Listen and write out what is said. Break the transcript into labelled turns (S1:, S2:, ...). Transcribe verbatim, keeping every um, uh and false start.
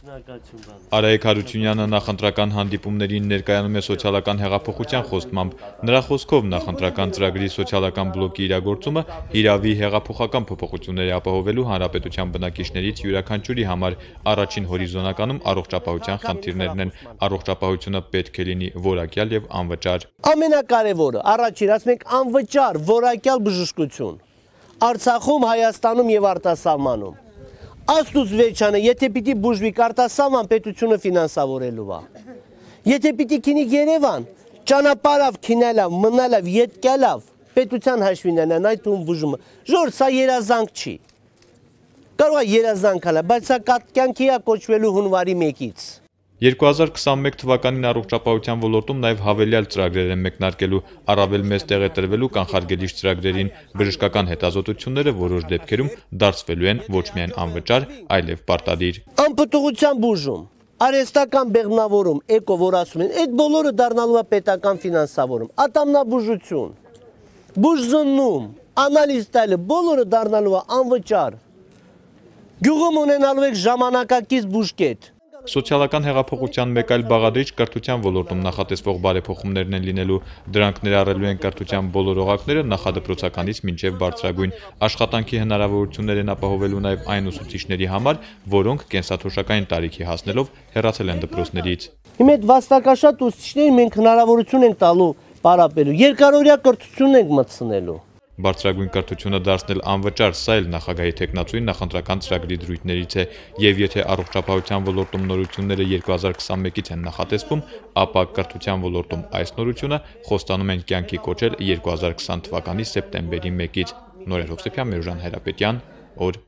S1: Արայիկ Հարությունյանը նախընտրական հանդիպումներին ներկայանում է սոցիալական հեղափոխության խոստմամբ։ Նրա խոսքով նախընտրական ծրագրի սոցիալական բլոկի իրագործումը հիրավի հեղափոխական փոփոխությունների ապահովելու հանրապետության բնակիչներից յուրաքանչյուրի համար առաջին հորիզոնականում առողջապահության խնդիրներն են։ Առողջապահությունը պետք է լինի որակյալ եւ անվճար։
S2: Ամենակարևորը առաջին ասում ենք անվճար որակյալ բժշկություն Արցախում, Հայաստանում եւ արտասահմանում։ Աստուծո վերջանը, եթե պիտի բուժվի արտասահման պետությունը ֆինանսավորելու է։ Եթե պիտի քինի Երևան, ճանապարհով քինելավ, մնալավ, ետկալավ, պետության հաշվին են այդ ում բուժումը։ Ժոր, սա երազանք չի։ Կարող է երազանք հալա, բայց սա կյանքի է կոչվելու հունվարի մեկից։
S1: երկու հազար քսանմեկ թվականին առողջապահության ոլորտում նաև հավելյալ ծրագրեր են մեկնարկելու, առավել մեծ տեղ է տրվելու կանխարգելիչ ծրագրերին, բժշկական հետազոտությունները որոշ դեպքերում դարձվելու են ոչ միայն անվճար, այլև պարտադիր։
S2: Անպտուղության բուժում, արհեստական բեղմնավորում, էկո, որ ասում են, այդ բոլորը դառնալու է պետական ֆինանսավորում, ատամնաբուժություն, բուժզննում, անալիզ տալը, բոլորը դառնալու է անվճար։ Գյուղում ունենալու եք ժամանակակից բուժկետ։
S1: Սոցիալական հեղափոխության մեկ այլ բաղադրիչ կրթության ոլորտում նախատեսվող բարեփոխումներն են լինելու, դրանք ներառելու են կրթության բոլոր օղակները նախադպրոցականից մինչև բարձրագույն, աշխատանքի հնարավորություններ են ապահովելու նաև այն ուսուցիչների համար, որոնք կենսաթոշակային տարիքի հասնելով հեռացել են դպրոցներից։
S2: Հիմա այդ վաստակաշատ ուսուցիչներին մենք հնարավորություն ենք տալու պարապելու, երկարօրյա կրթություն ենք մտցնելու։
S1: Բարձրագույն կրթությունը դարձնել անվճար, սա էլ նախագահի թեկնածուի նախընտրական ծրագրի դրույթներից է, եւ եթե առողջապահության ոլորտում նորությունները երկու հազար քսանմեկից են նախատեսվում, ապա կրթության ոլորտում այս նորությունը խոստանում են կյանքի կոչել երկու հազար քսան թվականի սեպտեմբերի մեկից։ Նորեր Հովսեփյան, Միրժան Հայրապետյան, օր